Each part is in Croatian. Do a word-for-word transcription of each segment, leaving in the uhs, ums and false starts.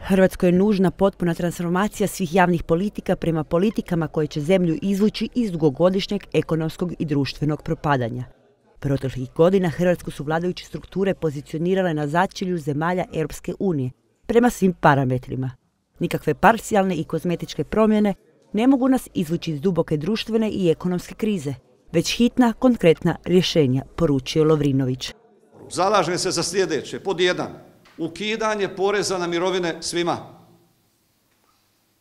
Hrvatskoj je nužna potpuna transformacija svih javnih politika prema politikama koje će zemlju izvući iz dugogodišnjeg ekonomskog i društvenog propadanja. Proteklih godina Hrvatsku su vladajuće strukture pozicionirale na začelju zemalja Europske unije prema svim parametrima. Nikakve parcijalne i kozmetičke promjene ne mogu nas izvući iz duboke društvene i ekonomske krize, već hitna, konkretna rješenja, poručio Lovrinović. Zalažem se za sljedeće. Pod jedan, ukidanje poreza na mirovine svima.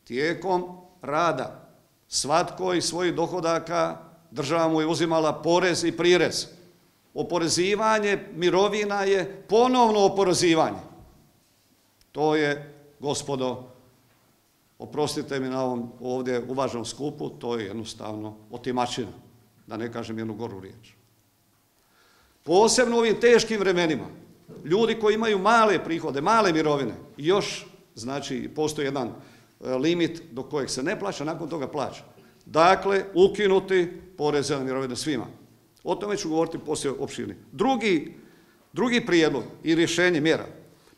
Tijekom rada svatko iz svojih dohodaka država mu je uzimala porez i prirez. Oporezivanje mirovina je ponovno oporezivanje. To je, gospodo, oprostite mi na ovom ovdje uvaženom skupu, to je jednostavno otimačina, da ne kažem jednu goru riječ. Posebno u ovim teškim vremenima, ljudi koji imaju male prihode, male mirovine, još, znači, postoji jedan limit do kojeg se ne plaća, nakon toga plaća. Dakle, ukinuti poreze na mirovine svima. O tome ću govoriti poslije opširnije. Drugi, drugi prijedlog i rješenje mjera.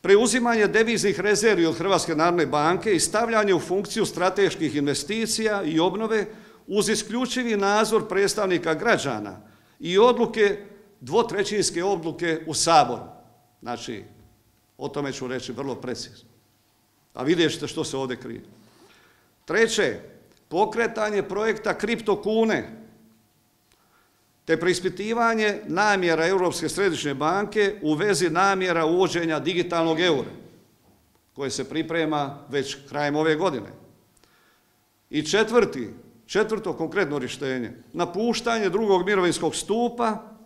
Preuzimanje deviznih rezervi od Hrvatske narodne banke i stavljanje u funkciju strateških investicija i obnove uz isključivi nadzor predstavnika građana i odluke, dvotrećinske odluke u Saboru. Znači, o tome ću reći vrlo precizno. A vidjet ćete što se ovdje krije. Treće, pokretanje projekta kriptokune te preispitivanje namjera Europske središnje banke u vezi namjera uvođenja digitalnog eura, koje se priprema već krajem ove godine. I četvrti, četvrto konkretno rješenje, napuštanje drugog mirovinskog stupa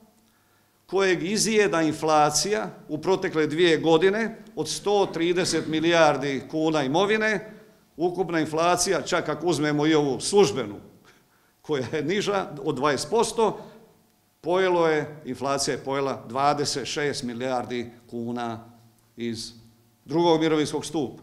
kojeg izjeda inflacija u protekle dvije godine od sto trideset milijardi kuna imovine, ukupna inflacija, čak ako uzmemo i ovu službenu, koja je niža od dvadeset posto, pojelo je, inflacija je pojela dvadeset šest milijardi kuna iz drugog mirovinskog stupa.